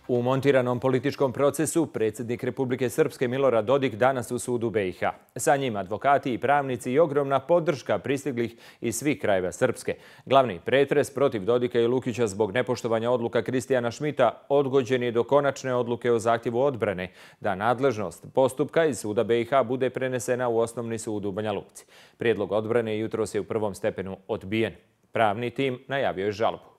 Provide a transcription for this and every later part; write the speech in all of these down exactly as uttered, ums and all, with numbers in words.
U montiranom političkom procesu predsjednik Republike Srpske Milorad Dodik danas u sudu B i H. Sa njim advokati i pravnici i ogromna podrška pristiglih iz svih krajeva Srpske. Glavni pretres protiv Dodika i Lukića zbog nepoštovanja odluka Kristijana Šmita odgođen je do konačne odluke o zahtjevu odbrane da nadležnost postupka iz suda B i H bude prenesena u osnovni sud u Banja Luci. Prijedlog odbrane jutros je u prvom stepenu odbijen. Pravni tim najavio je žalbu.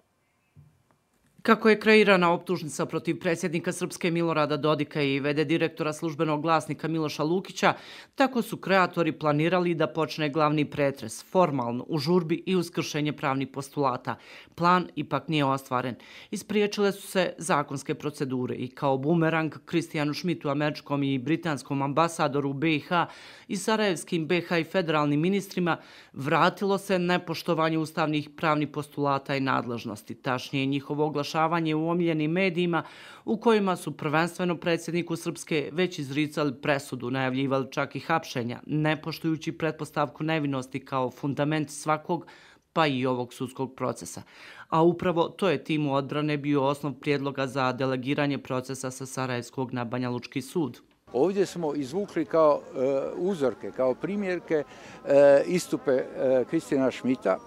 Kako je kreirana optužnica protiv predsjednika Srpske Milorada Dodika i v d direktora službenog glasnika Miloša Lukića, tako su kreatori planirali da počne glavni pretres, formalno, u žurbi i uz kršenje pravnih postulata. Plan ipak nije ostvaren. Ispriječile su se zakonske procedure i kao bumerang Kristijanu Šmitu, američkom i britanskom ambasadoru u B i H i sarajevskim B i H i federalnim ministrima, vratilo se nepoštovanje ustavnih pravnih postulata i nadležnosti, tačnije njihovo oglašavanje u omiljenim medijima u kojima su prvenstveno predsjedniku Srpske već izricali presudu, najavljivali čak i hapšenja, ne poštujući pretpostavku nevinosti kao fundament svakog pa i ovog sudskog procesa. A upravo to je timu odbrane bio osnov prijedloga za delegiranje procesa sa Sarajevskog na Banjalučki sud. Ovdje smo izvukli kao e, uzorke, kao primjerke e, istupe e, Kristijana Šmita,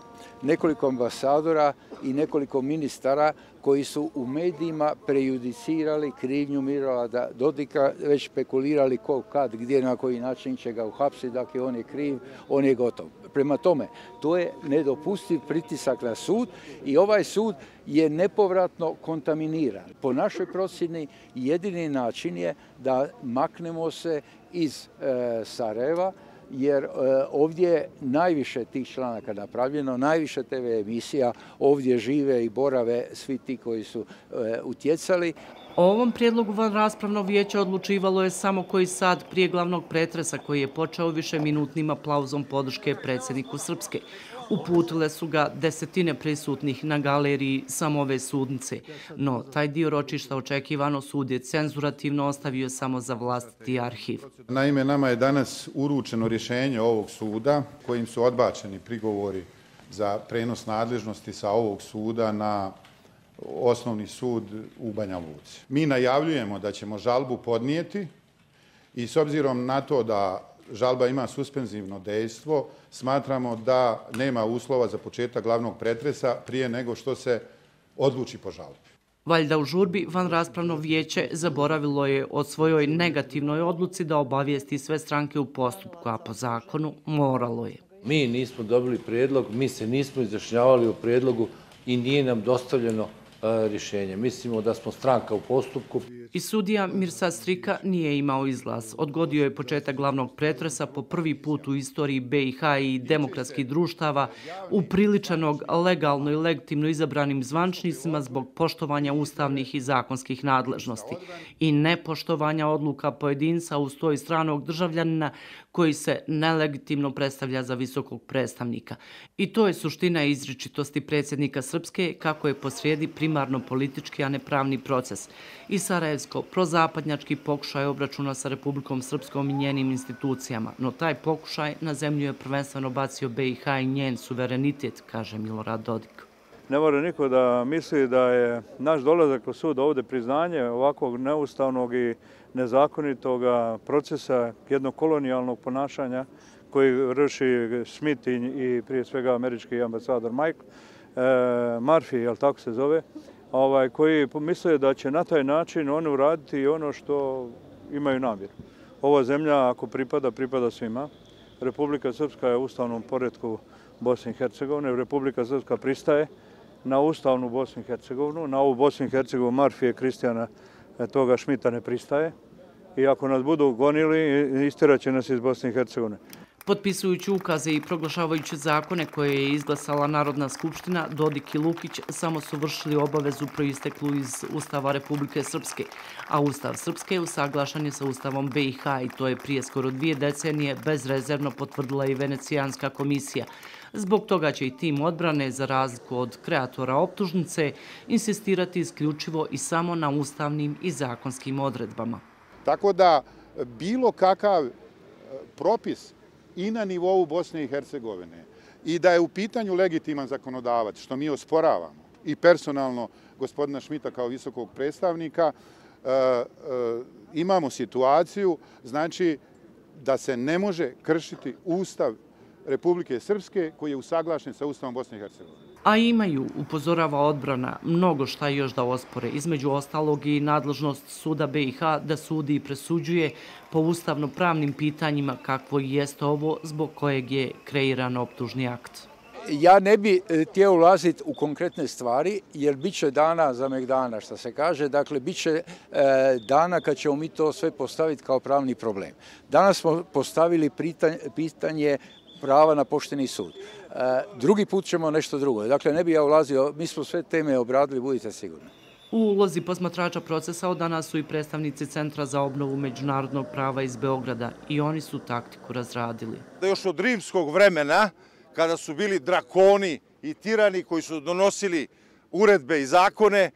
nekoliko ambasadora i nekoliko ministara koji su u medijima prejudicirali krivnju Milorada Dodika, već spekulirali ko, kad, gdje, na koji način će ga uhapsiti, dakle on je kriv, on je gotov. Prema tome, to je nedopustiv pritisak na sud i ovaj sud je nepovratno kontaminiran. Po našoj procjeni jedini način je da maknemo se iz e, Sarajeva, jer e, ovdje je najviše tih članaka napravljeno, najviše te ve emisija, ovdje žive i borave svi ti koji su e, utjecali. O ovom prijedlogu vanraspravno vijeće odlučivalo je samo koji sat prije glavnog pretresa koji je počeo višeminutnim aplauzom podrške predsjedniku Srpske. Uputile su ga desetine prisutnih na galeriji samo ove sudnice, no taj dio ročišta očekivano sud je cenzurativno ostavio samo za vlastiti arhiv. Naime, nama je danas uručeno rješenje ovog suda kojim su odbačeni prigovori za prenos nadležnosti sa ovog suda na osnovni sud u Banja Luci. Mi najavljujemo da ćemo žalbu podnijeti i s obzirom na to da žalba ima suspenzivno dejstvo, smatramo da nema uslova za početak glavnog pretresa prije nego što se odluči po žalbi. Valjda u žurbi vanraspravno vijeće zaboravilo je o svojoj negativnoj odluci da obavijesti sve stranke u postupku, a po zakonu moralo je. Mi nismo dobili prijedlog, mi se nismo izjašnjavali o prijedlogu i nije nam dostavljeno rješenje. Mislimo da smo stranka u postupku. I sudija Mirsad Strika nije imao izlaz. Odgodio je početak glavnog pretresa po prvi put u istoriji B i H i demokratskih društava upriličenog legalno i legitimno izabranim zvančnicima zbog poštovanja ustavnih i zakonskih nadležnosti i nepoštovanja odluka pojedinca uz to i stranog državljanina koji se nelegitimno predstavlja za visokog predstavnika. I to je suština izričitosti predsjednika Srpske kako je posrijedi primarno politički, a ne pravni proces. I sarajevsko prozapadnjački pokušaj obračuna sa Republikom Srpskom i njenim institucijama, no taj pokušaj na zemlju je prvenstveno bacio B i H i njen suverenitet, kaže Milorad Dodik. Ne mora niko da misli da je naš dolazak u sud ovdje priznanje ovakvog neustavnog i nezakonitog procesa jednog kolonijalnog ponašanja koji vrši Schmidt i prije svega američki ambasador Mike e, Murphy, jel tako se zove, ovaj, koji misle da će na taj način oni uraditi ono što imaju namjeru. Ova zemlja, ako pripada, pripada svima. Republika Srpska je u ustavnom poretku Bosne i Hercegovine. Republika Srpska pristaje na ustavnu Bosnu i Hercegovinu. Na ovu Bosnu i Hercegovinu Murphy Kristijana toga Šmita ne pristaje. I ako nas budu gonili, istirat će nas iz Bosne i Hercegovine. Potpisujući ukaze i proglašavajući zakone koje je izglasala Narodna skupština, Dodik i Lukić samo su vršili obavezu proisteklu iz Ustava Republike Srpske, a Ustav Srpske usaglašen je sa Ustavom B i H i to je prije skoro dvije decenije bezrezervno potvrdila i Venecijanska komisija. Zbog toga će i tim odbrane, za razliku od kreatora optužnice, insistirati isključivo i samo na ustavnim i zakonskim odredbama. Tako da bilo kakav propis i na nivou Bosne i Hercegovine i da je u pitanju legitiman zakonodavac, što mi osporavamo, i personalno gospodina Šmita kao visokog predstavnika, imamo situaciju, znači, da se ne može kršiti Ustav Republike Srpske koji je usaglašen sa Ustavom Bosne i Hercegovine. A imaju, upozorava odbrana, mnogo šta još da ospore, između ostalog i nadležnost suda B i H da sudi i presuđuje po ustavno-pravnim pitanjima kakvo i jeste ovo zbog kojeg je kreiran optužni akt. Ja ne bi htio ulaziti u konkretne stvari, jer bit će dana za megdana, što se kaže. Dakle, bit će dana kad ćemo mi to sve postaviti kao pravni problem. Danas smo postavili pitanje prava na pošteni sud. Drugi put ćemo nešto drugo. Dakle, ne bi ja ulazio, mi smo sve teme obradili, budite sigurni. U ulozi posmatrača procesa od danas su i predstavnici Centra za obnovu međunarodnog prava iz Beograda i oni su taktiku razradili. Još od rimskog vremena, kada su bili drakoni i tirani koji su donosili uredbe i zakone,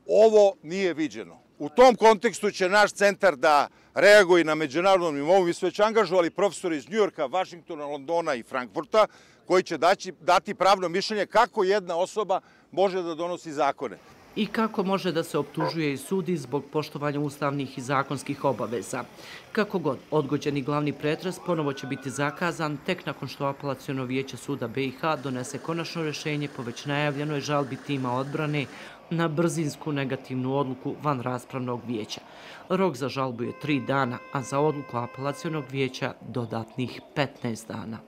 ovo nije viđeno. U tom kontekstu će naš centar da reaguje na međunarodnom nivou. Mi smo već angažovali profesori iz Njujorka, Vašingtona, Londona i Frankfurta, koji će dati pravno mišljenje kako jedna osoba može da donosi zakone. I kako može da se optužuje i sudi zbog poštovanja ustavnih i zakonskih obaveza. Kako god, odgođeni glavni pretres ponovo će biti zakazan tek nakon što Apelaciono vijeće suda B i H donese konačno rješenje po već najavljenoj žalbi tima odbrane na brzinsku negativnu odluku van raspravnog vijeća. Rok za žalbu je tri dana, a za odluku Apelacionog vijeća dodatnih petnaest dana.